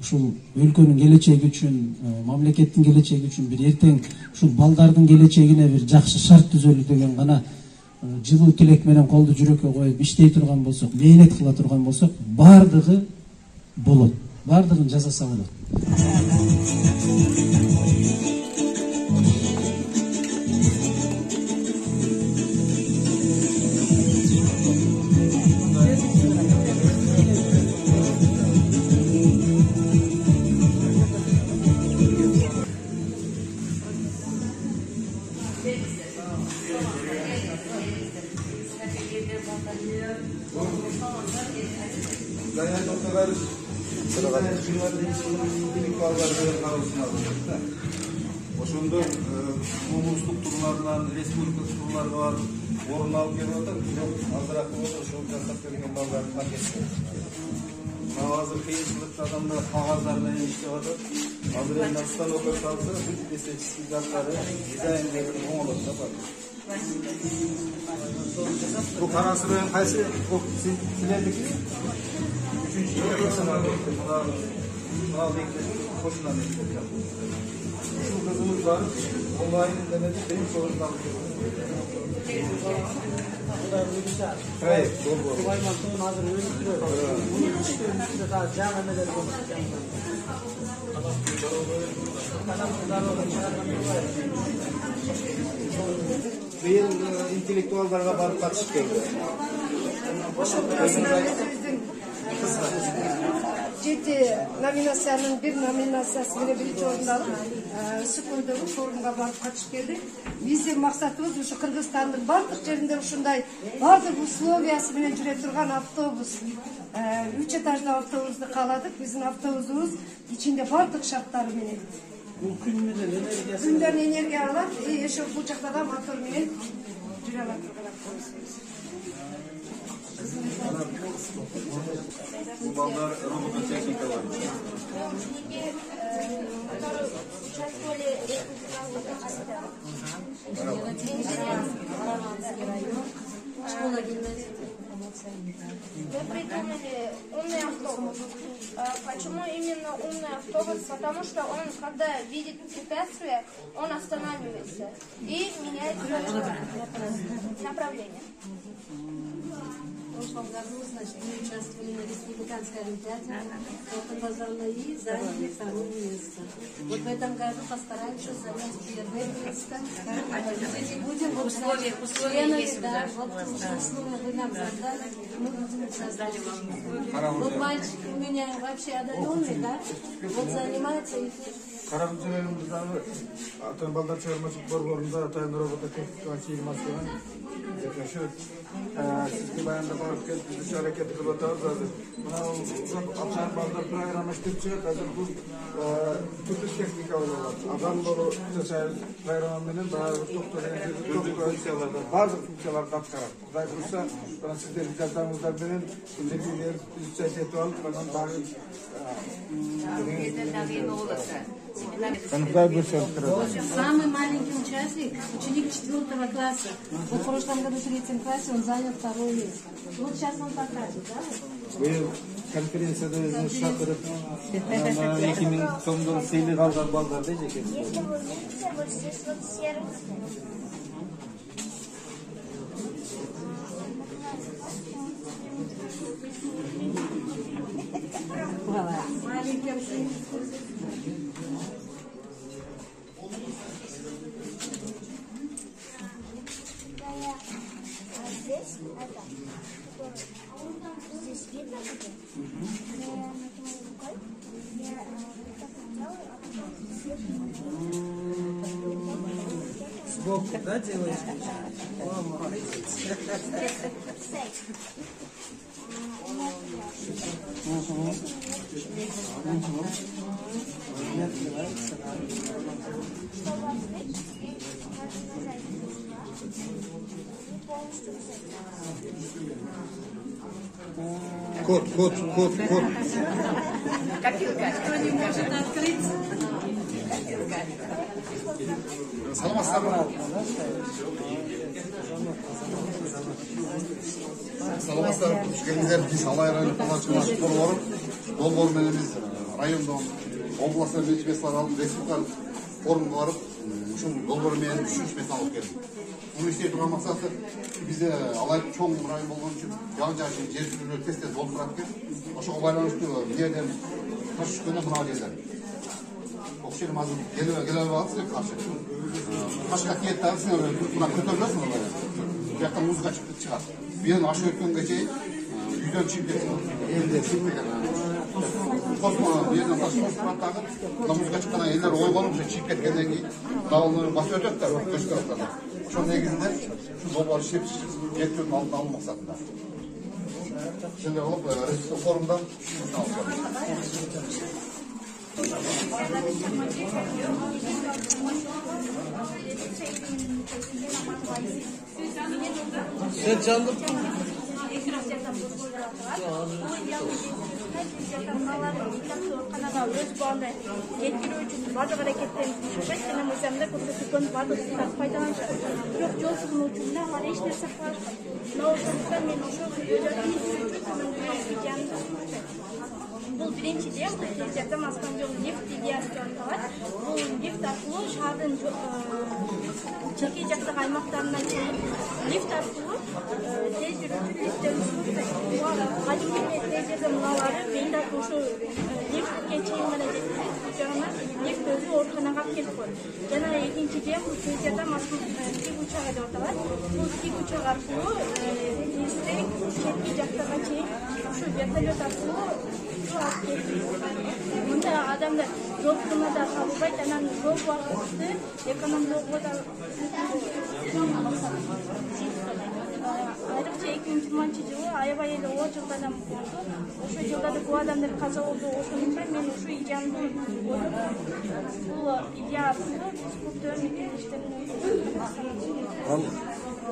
ушул өлкөнүн келечеги үчүн, мамлекеттин келечеги үчүн бир эртең ушул балдардын келечегине бир жакшы шарт түзөлү деген гана жылуу тилек менен колду жүрөккө коюп иштей турган болсок, мээнет кыла турган болсок, баардыгы болот. Баардыгын жасаса болот. Ошондо облустук турлардан республикалык турларга барып орун алып келип атат. Азыраак болот, ошол жасап берген балдардын пакети. Азыр кыйынчылыкта адамдар кагаздар менен иштеп атат. Азыр эми станокко салса, бүт эсептик заттары, дизайндери оңолот да бар. Бу карасы менен кайсы силердики? Кошунан ушул кызыбыз бар, онлайн интернетте тең сорун алып проект долбоор. Азыр өзүнүн быйыл интеллектуалдарга барып катышып келди. 7 номинациянын бир номинациясы менен биринчи орунду алып, Сыкойдогу форумга барып катышып келдик. Биздин максатыбыз ушу Кыргызстандын бардык жеринде ушундай бардык условиясы менен жүрө турган автобус, 3 этаждуу автобусду кааладык. Биздин автобусубуз ичинде бардык шарттары менен. Күндөн энергия алат, ошо бул жакта да мотор менен жүрө алат турган автобусубуз. Bu ballar robototexnikalar. Мы придумали умный автобус. Почему именно умный автобус? Потому что он, когда видит препятствие, он останавливается и меняет направление. В прошлом году, значит, мы участвовали на республиканской олимпиаде, и заняли 2-е место. Вот в этом году постараемся занять 1-е место. Будем членами, да, вот условия вы нам задали, мы будем участвовать. Вот мальчик у меня вообще одаренный, да, вот занимается и Карабүчөлөрүбүздөгү ата балдар чыгармачылык борборунда атайын робототехника фирмасынан жашашып, сизге баянда барып келип биз аракет кылып атабыз азыр. Мына атайын балдар программа иштеп чыгат, азыр бул түрдүү техника болот. Адам болуп жашайбыз программа менен баардык баардык функцияларды аткарат. Кудай буюрса, сиздердин жардамыңыздар менен биз чечип алып, анан баары самый маленький участник, ученик 4 класса. Вот в прошлом году в 3 классе он занял 2-е место. Вот сейчас он покажет, да? Вы конференцияда өзүңүз шақырып, 2000 сомдон сыйлык алган балдарды жеке. Если вы видите, вот здесь вот сервис. Маленький ученик. Здесь это. Здесь видно где? Я нажимаю рукой. Я так делаю, а потом Сбоку, да, делаешь? О, молодец. Код. Копилка. Кто не может открыть? Саламатсыздар, түшкеніңіздер, біз алайран палачылар борбору, долбоор менен райондон областар мечмесин алып республикалык форумга барып ушул долбоор менен 3 мет алып келдим. Муну иштей турган максаты бизде алай чоң район болгон үчүн жан-жакшы жер түзүлүү тез болуп турат экен. Ошого байланыштуу жерден таш түшкөндө мына жерден окшерим азыр келе албайсызбы каршы. Ташка кет дагы сен мына көтөрүлөсүң мына. Bu yakta muzga çıkar. Bir yan aşağı ötken geçeyi yüzden çift geçsin. Elde çift geçsin. Kosma bir yerden taşı kosma takıp buna muzga çıkan eller oy olunca çift geçkenden ki dağılları bası ötetler. Göç taraflarına. Şu negizinde şu dobar şep getiriyorun altına alın maksatında. Şimdi olup Resul Forum'dan Sen canlı өз балына жеткирүү үчүн баардык аракеттерин түшүрбөйт жана мыйзамда көрсөтүлгөн баардык укуктарды пайдаланышат. Бирок жол сунуучу менен алар эч нерсе кылышпайт. Мына ошондуктан мен ошол бул биринчиден тез жардам аскан жол лифт идеясы деп аталат. Бул лифт аркылуу шаардын чеки жактагы аймактарына чейин лифт аркылуу тез жүрүүчү лифттерди кадимки тез жардам унаалары бейин аркылуу ушу лифтке чейин гана жеткизип, жана лифт өзү ооруканага алып келип коет. Жана экинчиден бул тез жардам тигучага деп аталат. Бул тигучак аркылуу тездик четки жактага чейин ушу вертолет аркылуу мындай адамдар жол кырына да кабылбайт, анан жол убакытты экономдоого да айрыкча 2020-жылы аябай эле оор жылдардан болду. Ошол жылдарда көп адамдар каза болду. Ошондуктан мен ушу идеяны ойлоп, бул идея аркылуу биз көптөгөн иштерди.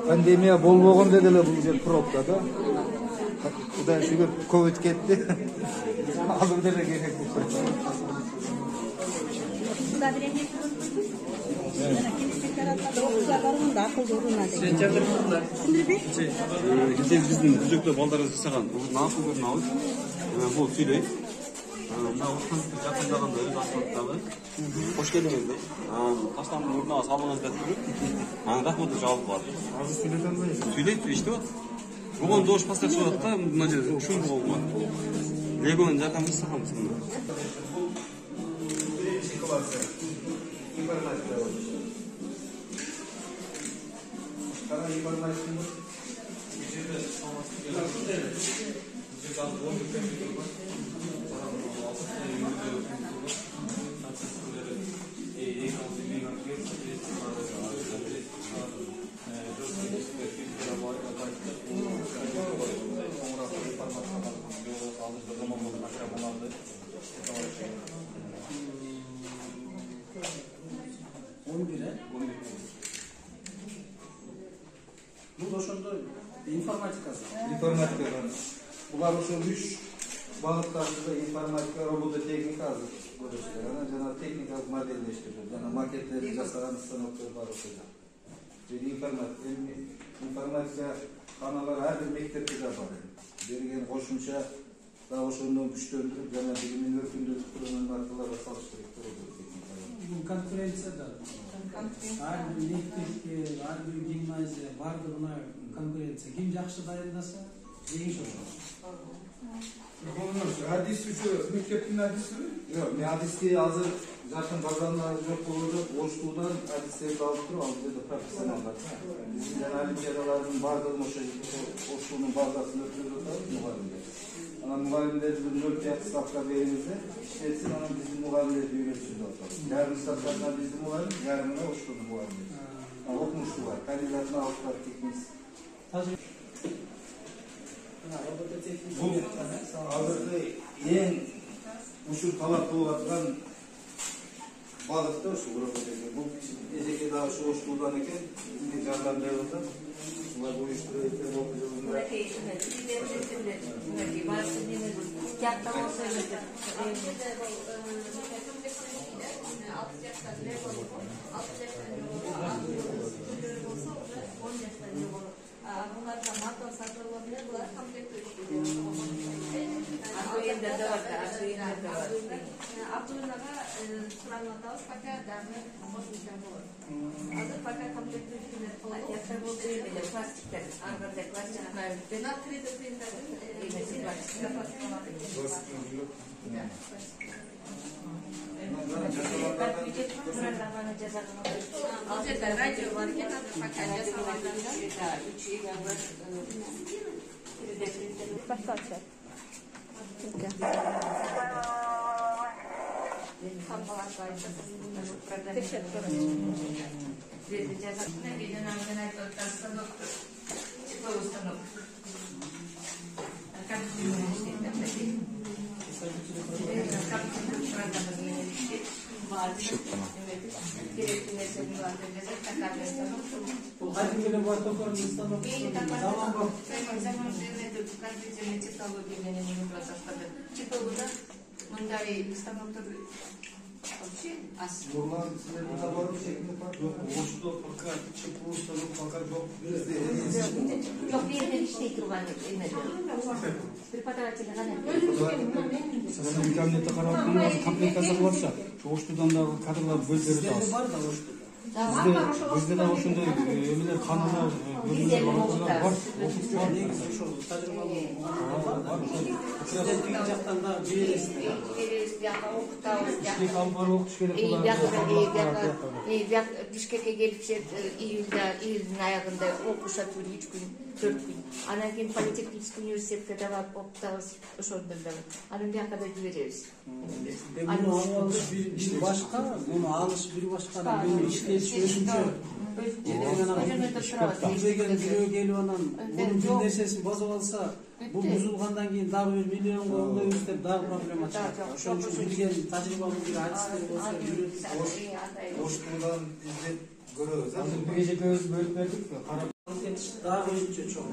Пандемия болбогондо деле бул жер пробка да. Кудай шүгүр ковид кетти. Азыр деле керек болуп калды. Биздин түзөктө балдарыбыз жасаган насыл көрүнөбүз. Бул сүйлөйт. Мына ушунтип жакындаганда өз асфальттагы кош келиңиздер. Таштандын мурдуна салыңыз деп туруп, анан рахматты жабылып калат. Азыр сүйлөтө албайсыз. Сүйлөйт, иштеп атат. Бугун дош пастар чыгып атат да, мына жерде ушун болгон. Легонун жардамы жасаганбыз мына. Бул ошондой информатикасы. Булар ошол 3 багыттарда информатика, робототехника азыр көрүшөт. Анан жана техникалык модельдештирүү, жана макеттерди жасаган станоктор бар ошол. Информатика каналары ар бир мектепте да бар. Берген кошумча да ошондон күчтөндүрүп жана билимин өркүндөтүп турган нарсаларга салыштырып турат. Бул конференцияда ар бир мектепке, ар бир гимназия бардыгына конкуренция. Ким жакшы дайындаса, жеңиш ошол. Hadis üçü mekteптин hadisi? Yok, hadisти азыр жакын базарында жок болду. Оштуудан hadisтерди алып туруп, ал жерде профессионалдар. Биздин жана олимпиадалардын бардыгын ошо Оштуунун базасында өткөрүп атабыз мугалимдер. Анан мугалимдердин 0,5 ставка бериңизде, иштетсин, анан биздин мугалимдерди үйрөтсүн деп атабыз. Ярым ставканы биздин мугалим, ярымына Оштуунун мугалими. Окумуштуулар, кандидатына алып барып кетиңиз. Бул азыркы эң ушул талап болуп аткан багытта ушул робототехника. Бул эжеке дагы ошо Оштуудан экен, бизге жардам берип атат. Булар уюштуруп экен окуу жылында. Anda Абдуллага суранып атабыз, пока дагы кошумча болот. Азыр пока комплектте пластиктер, ар кандай пластик. Открытый принтер. Ал жерде радио бар экен, азыр пока жасалган. Мындай станоктор вообще аз. Нурлан, силерде бар шекинде бар? Жок, ошто пока ЧПУ станок пока жок. Жок, берде иштей турган эме. Преподаватель гана. Сен кабинетте карап атканда комплектация кылып атса, оштудан дагы кадрлар бөлдөрүп атабыз. Бизде да ошондой эмелер канундар бөлүнүп бар. Негизи ошол тажрыйбалуу президенттик жактан да бересиздер. Бишкек алып барып окутуш керек булар. Бишкекке келишет июлдун аягында окушат 3 күн, 4 күн. Анан кийин политехнический университетке да барып окутабыз, ошондо да. Анан бияка да жиберебиз. Муну алыш бир башка, муну алыш бир башка, муну иштетиш өзүнчө. Билбеген бирөө келип анан мунун бир нерсесин базып алса, бул бузулгандан кийин дагы 1 миллионго оңдойбуз деп дагы проблема чыгат. Ошон үчүн билген тажрыйбалуу бир адистер болсо үйрөтүп Оштудан издеп көрөбүз. Азыр биге көз бөлүп бердик, карап дагы өзүнчө чоң.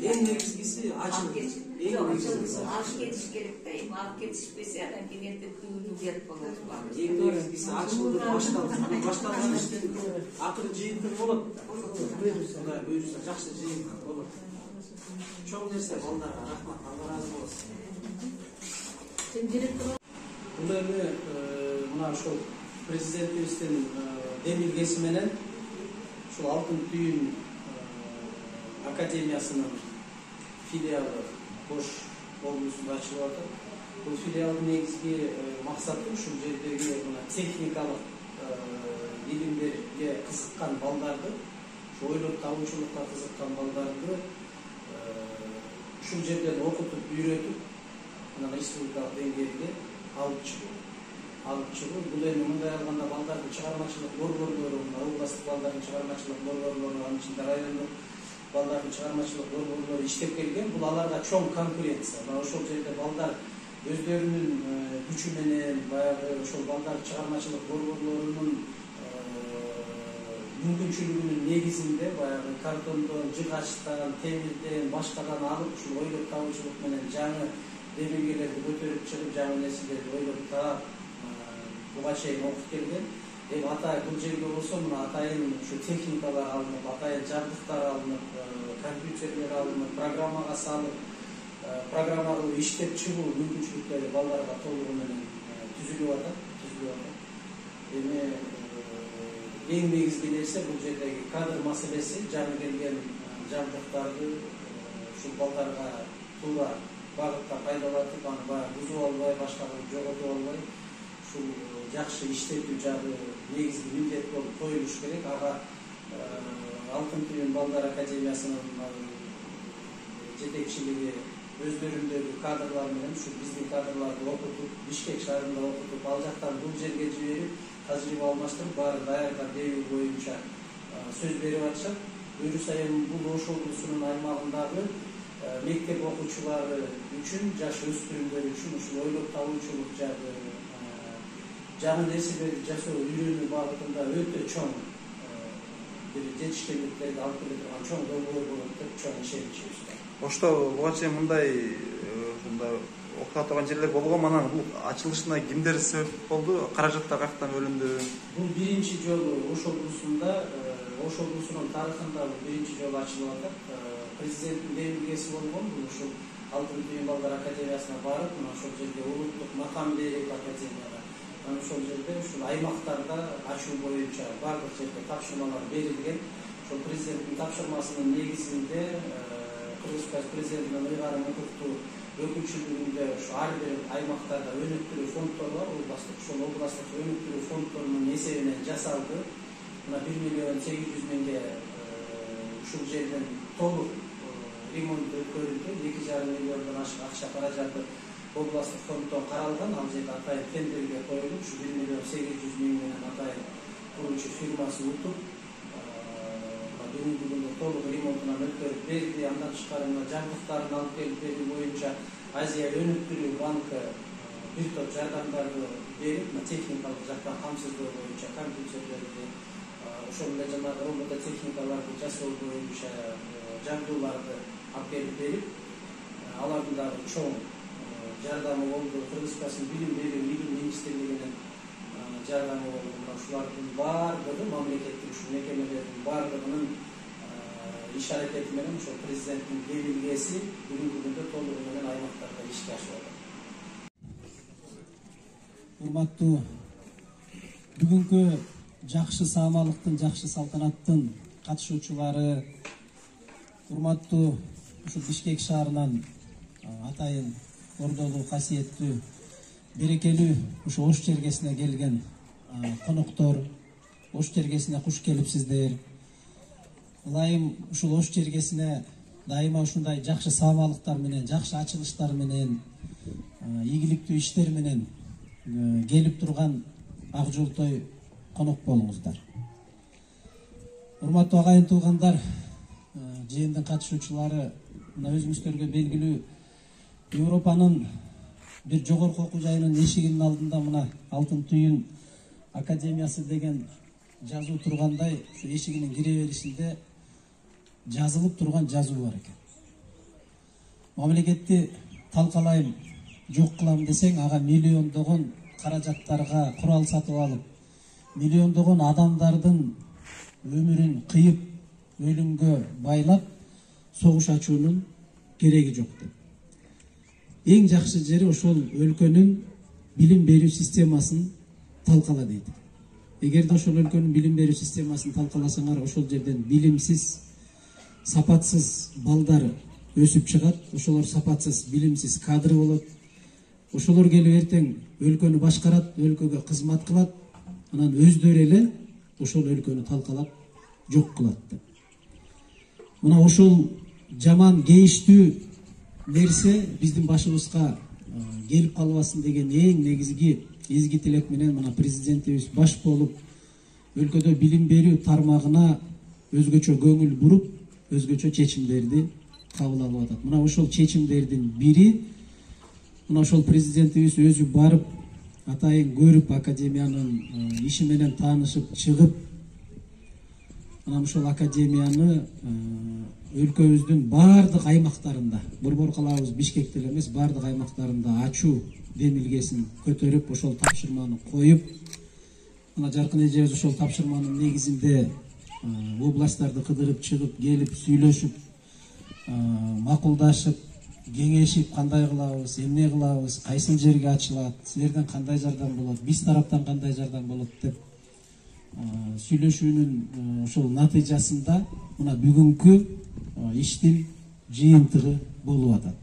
Эң негизгиси ачылыш. Алып кетиш керек да, алып кетишпесе анан кийин эртең күнү берип болот. Эң негизгиси ачылып башталган иштен акыры жыйынтык болот. Буюрса жакшы жыйынтык болот. Чоң нерсе балдарга рахмат, Алла разы болсун. Сен директор Бул эми мына ошол президентибиздин демилгеси менен ушул Алтын түйүн академиясынын филиалы Ош облусунда ачылып атат. Бул филиалдын негизги максаты ушул жердеги техникалык илимдерге кызыккан балдарды, ойлоп табуучулукка кызыккан балдарды ушул жерден окутуп, үйрөтүп, анан республикалык деңгээлде алып чыгуу. Бул эми мындай алганда балдардын чыгармачылык борборлору, областтык балдардын чыгармачылык борборлору, анын ичинде райондук балдардын чыгармачылык борборлору иштеп келген. Бул аларга чоң конкуренция. Мына ошол жерде балдар өздөрүнүн күчү менен, баягы ошол балдар чыгармачылык борборлорунун мүмкүнчүлүгүнүн негизинде баягы картондон, жыгачтан, темирден, башкадан алып ушул ойлоп табуучулук менен жаңы демилгелерди көтөрүп чыгып, жаңы нерселерди ойлоп таап буга чейин окуп келген. Эми атайын бул жерге болсо мына атайын ушу техникалар алынып, атайын жабдыктар алынып, компьютерлер алынып, программага салып, программа кылып иштеп чыгуу мүмкүнчүлүктөрү балдарга толугу менен түзүлүп атат. Эми эң негизги нерсе бул жердеги кадр маселеси, жаңы келген жабдыктарды ушул балдарга туура багытта пайдалатып, аны баягы бузуп албай, башка кылып жоготуп албай, ушул жакшы иштетүү жагы негизги милдет болуп коюлуш керек. Ага Алтын түйүн балдар академиясынын жетекчилиги өздөрүндөгү кадрлар менен ушу биздин кадрларды окутуп, Бишкек шаарында окутуп, ал жактан бул жерге жиберип, тажрыйба алмаштырып, баары даярдап берүү боюнча сөз берип атышат. Буюрса эми бул Ош облусунун аймагындагы мектеп окуучулары үчүн, жаш өспүрүмдөр үчүн ушул ойлоп табуучулук жагы жаңы нерселерди жасоо үйрөнүү багытында өтө чоң бир жетишкендиктерди алып келе турган чоң долбоор болот деп чоң ишеничибиз бар. Ошто буга чейин мындай окута турган жерлер болгонбу? Анан бул ачылышына кимдер себеп болду? Каражаттар каяктан бөлүндү? Бул биринчи жолу Ош облусунда, Ош облусунун тарыхында бул биринчи жолу ачылып атат. Президенттин демилгеси болгон, бул ушул Алтын Түйүн балдар академиясына барып, мына ошол жерде улуттук макам берип академияга, анан ошол жерде ушул аймактарда ачуу боюнча бардык жерде тапшырмалар берилген. Ошол президенттин тапшырмасынын негизинде Кыргызстан президентинин ыйгарым укуктуу өкүлчүлүгүндө ушу ар бир аймактарда өнүктүрүү фонддору бар, областтык. Ошол областтык өнүктүрүү фонддорунун эсебинен жасалды. Мына 1.800.000 ушул жерден толук ремонт өткөрүлдү. 2,5 миллиондон ашык акча каражаты областтык фонддон каралган. Ал жерде атайын тендерге коюлуп, ушу 1.800.000 менен атайын куруучу фирмасы утуп, бүгүнкү күндө толук ремонтунан өткөрүп берди. Андан тышкары жабдыктарын алып келип берүү боюнча Азия өнүктүрүү банкы бир топ жардамдарды берип, техникалык жактан камсыздоо боюнча компьютерлерди, ошол эле жанагы робототехникаларды жасоо боюнча жабдууларды алып келип берип, алардын дагы чоң жардамы болду. Кыргызстандын билим берүү министрлигинин жардамы болду. Ушулардын баардыгы мамлекеттик ушул мекемелердин баардыгынын иш аракети менен ошол президенттин белгилеси бүгүнкү күндө толугу менен аймактарда ишке ашып атат. Урматтуу бүгүнкү жакшы саамалыктын, жакшы салтанаттын катышуучулары, урматтуу ушул Бишкек шаарынан атайын ордолуу, касиеттүү, берекелүү ушу Ош чергесине келген коноктор, Ош чергесине куш келипсиздер. Ылайым ушул Ош чергесине дайыма ушундай жакшы саамалыктар менен, жакшы ачылыштар менен, ийгиликтүү иштер менен келип турган ак жолтой конок болуңуздар. Урматтуу агайын туугандар, жыйындын катышуучулары, мына өзүңүздөргө белгилүү Европанын бир жогорку окуу жайынын эшигинин алдында мына Алтын Түйүн академиясы деген жазуу тургандай, ушу эшигинин кире беришинде жазылып турган жазуу бар экен. Мамлекетти талкалайм, жок кылам десең, ага миллиондогон каражаттарга курал сатып алып, миллиондогон адамдардын өмүрүн кыйып, өлүмгө байлап, согуш ачуунун кереги жок деп. Эң жакшы жери ошол өлкөнүн билим берүү системасын талкала дейт. Эгерде ошол өлкөнүн билим берүү системасын талкаласаңар, ошол жерден билимсиз, сапатсыз балдар өсүп чыгат, ошолор сапатсыз, билимсиз кадр болот. Ошолор келип эртең өлкөнү башкарат, өлкөгө кызмат кылат, анан өздөрү эле ошол өлкөнү талкалап жок кылат деп. Мына ошол жаман кейиштүү нерсе биздин башыбызга келип калбасын деген эң негизги изги тилек менен мына президентибиз баш болуп, өлкөдө билим берүү тармагына өзгөчө көңүл буруп, өзгөчө чечимдерди кабыл алып атат. Мына ошол чечимдердин бири, мына ошол президентибиз өзү барып, атайын көрүп, академиянын иши менен таанышып чыгып, анан ошол академияны өлкөбүздүн баардык аймактарында, Борбор калабыз Бишкекте эле эмес, баардык аймактарында ачуу демилгесин көтөрүп, ошол тапшырманы коюп, мына жаркын эжебиз ошол тапшырманын негизинде областтарды кыдырып чыгып, келип, сүйлөшүп, макулдашып, кеңешип, кандай кылабыз, эмне кылабыз, кайсыл жерге ачылат, силерден кандай жардам болот, биз тараптан кандай жардам болот деп сүйлөшүүнүн ошол натыйжасында мына бүгүнкү иштин жыйынтыгы болуп атат.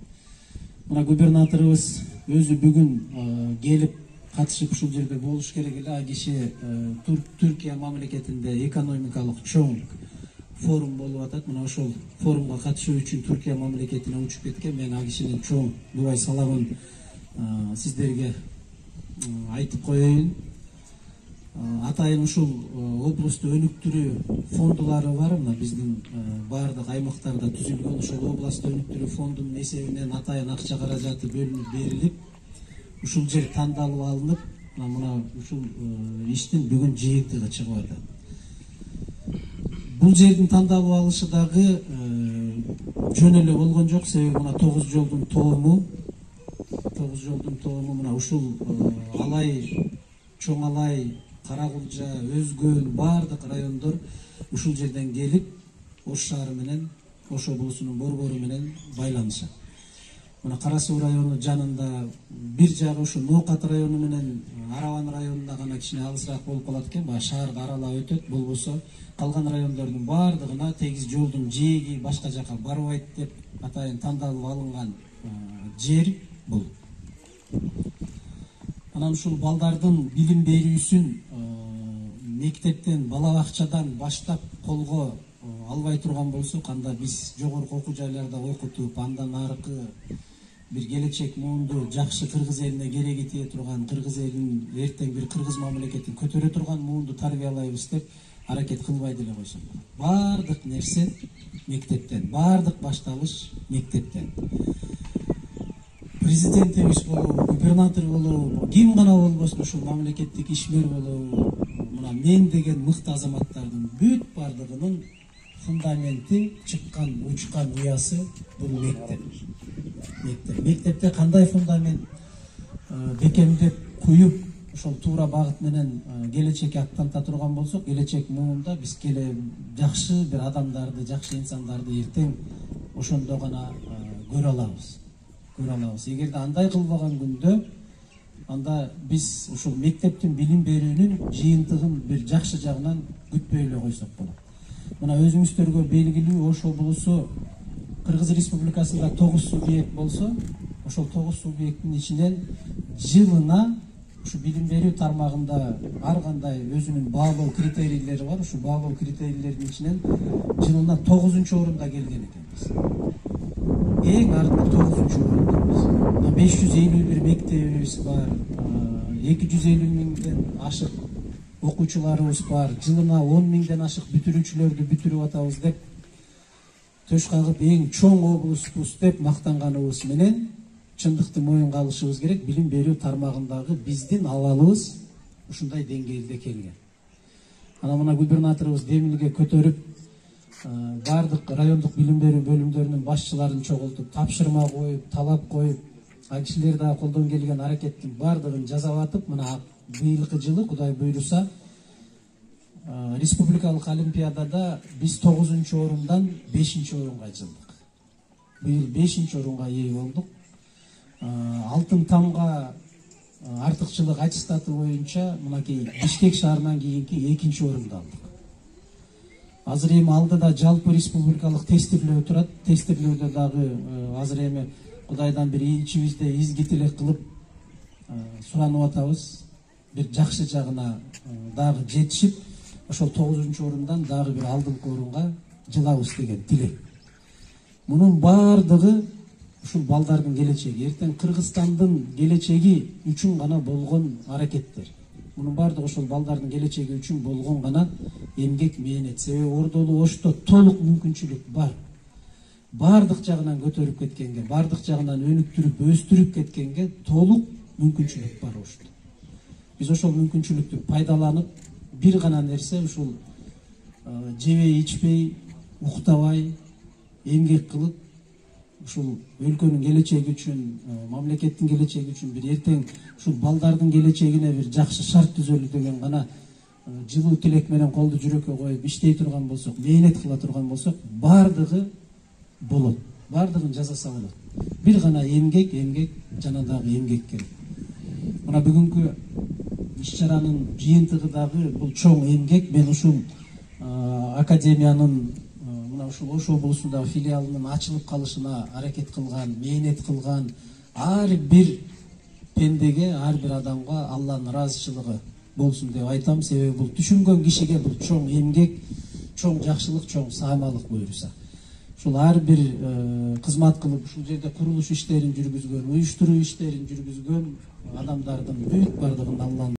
Мына губернаторубуз өзү бүгүн келип катышып ушул жерде болуш керек эле. А киши Түркия мамлекетинде экономикалык чоң форум болуп атат. Мына ошол форумга катышуу үчүн Түркия мамлекетине учуп кеткен. Мен а кишинин чоң дубай саламын сиздерге айтып коеюн. Атайын ушул облусту өнүктүрүү фондулары бар. Мына биздин баардык аймактарда түзүлгөн ошол областты өнүктүрүү фондунун эсебинен атайын акча каражаты бөлүнүп берилип, ушул жер тандалып алынып, мына ушул иштин бүгүн жыйынтыгы чыгып атат. Бул жердин тандалып алышы дагы жөн эле болгон жок. Себеби мына 9 жолдун тоому мына ушул Алай, Чоң Алай, Каракулжа, Өзгөн баардык райондор ушул жерден келип, Ош шаары менен, Ош облусунун борбору менен байланышат. мына Кара Суу району жанында, бир жагы ушу Ноокат району менен Арабан районунда гана кичине алысыраак болуп калат экен, баягы шаарга аралап өтөт. Болбосо калган райондордун баардыгына тегиз жолдун жээги башка жака барбайт деп атайын тандалып алынган жер бул. Анан ушул балдардын билим берүүсүн мектептен, бала бакчадан баштап колго албай турган болсок, анда биз жогорку окуу жайларда окутуп, андан аркы бир келечек муунду жакшы кыргыз элине кереги тие турган, кыргыз элин эртең бир кыргыз мамлекетин көтөрө турган муунду тарбиялайбыз деп аракет кылбай деле койсок болот. Бардык нерсе мектептен, бардык башталыш мектептен. Президентибиз болобу, губернатор болобу, ким гана болбосун, ушул мамлекеттик ишмер болобу, мына мен деген мыкты азаматтардын бүт бардыгынын фундаменти, чыккан, учкан уясы бул мектеп. Мектепте кандай фундамент бекемдеп куюп, ошол туура багыт менен келечекке аттанта турган болсок, келечек муунда биз жакшы бир адамдарды, жакшы инсандарды эртең ошондо гана көрө алабыз. Эгерде андай кылбаган күндө, анда биз ушул мектептин билим берүүнүн жыйынтыгын бир жакшы жагынан күтпөй эле койсок болот. Мына өзүңүздөргө белгилүү, Ош облусу Кыргыз Республикасында 9 субъект болсо, ошол 9 субъекттин ичинен жылына ушу билим берүү тармагында ар кандай өзүнүн баалоо критерийлери бар. Ушу баалоо критерийлердин ичинен жылына 9-орунда келген экенбиз. Эң артык 9-орунда. 551 мектебибиз бар, 250 миңден ашык окуучуларыбыз бар, жылына 10 миңден ашык бүтүрүүчүлөрдү бүтүрүп атабыз деп төш кагып эң чоң облуспуз деп мактанганыбыз менен чындыкты моюнга алышыбыз керек. Билим берүү тармагындагы биздин абалыбыз ушундай деңгээлде келген. Анан мына губернаторубуз демилге көтөрүп, бардык райондук билим берүү бөлүмдөрүнүн башчыларын чогултуп, тапшырма коюп, талап коюп, ал кишилер дагы колдон келген аракеттин бардыгын жасап атып, мына быйылкы жылы Кудай буйруса республикалык олимпиадада биз 9-орундан 5-орунга жылдык. Быйыл 5-орунга ээ болдук. Алтын тамга артыкчылык аттестаты боюнча мынакей Бишкек шаарынан кийинки 2-орунду алдык. Азыр эми алдыда жалпы республикалык тестирлөө турат. Тестирлөөдө дагы азыр эми Кудайдан бир ичибизде изги тилек кылып суранып атабыз. Бир жакшы жагына дагы жетишип, ошол 9-орундан дагы бир алдыңкы орунга жылабыз деген тилек. Мунун баардыгы ушул балдардын келечеги, эртең Кыргызстандын келечеги үчүн гана болгон аракеттер. Мунун баардыгы ошол балдардын келечеги үчүн болгон гана эмгек, мээнет. Себеби Ордолуу Ошто толук мүмкүнчүлүк бар. Бардык жагынан көтөрүп кеткенге, бардык жагынан өнүктүрүп, өстүрүп кеткенге толук мүмкүнчүлүк бар Ошто. Биз ошол мүмкүнчүлүктү пайдаланып, бир гана нерсе ушул жебей, ичпей, уктабай, эмгек кылып, ушул өлкөнүн келечеги үчүн, мамлекеттин келечеги үчүн бир эртең ушул балдардын келечегине бир жакшы шарт түзөлү деген гана жылуу тилек менен колду жүрөккө коюп иштей турган болсок, мээнет кыла турган болсок, бардыгы болот. Бардыгын жасаса болот. Бир гана эмгек, жана дагы эмгек керек. Мына бүгүнкү иш-чаранын жыйынтыгы дагы бул чоң эмгек. Мен ушул академиянын мына ушул Ош облусундагы филиалынын ачылып калышына аракет кылган, мээнет кылган ар бир пендеге, ар бир адамга Алланын ыраазычылыгы болсун деп айтам. Себеби бул түшүнгөн кишиге бул чоң эмгек, чоң жакшылык, чоң саамалык буйруса. Ушул ар бир кызмат кылып, ушул жерде курулуш иштерин жүргүзгөн, уюштуруу иштерин жүргүзгөн адамдардын бүт бардыгын Алланын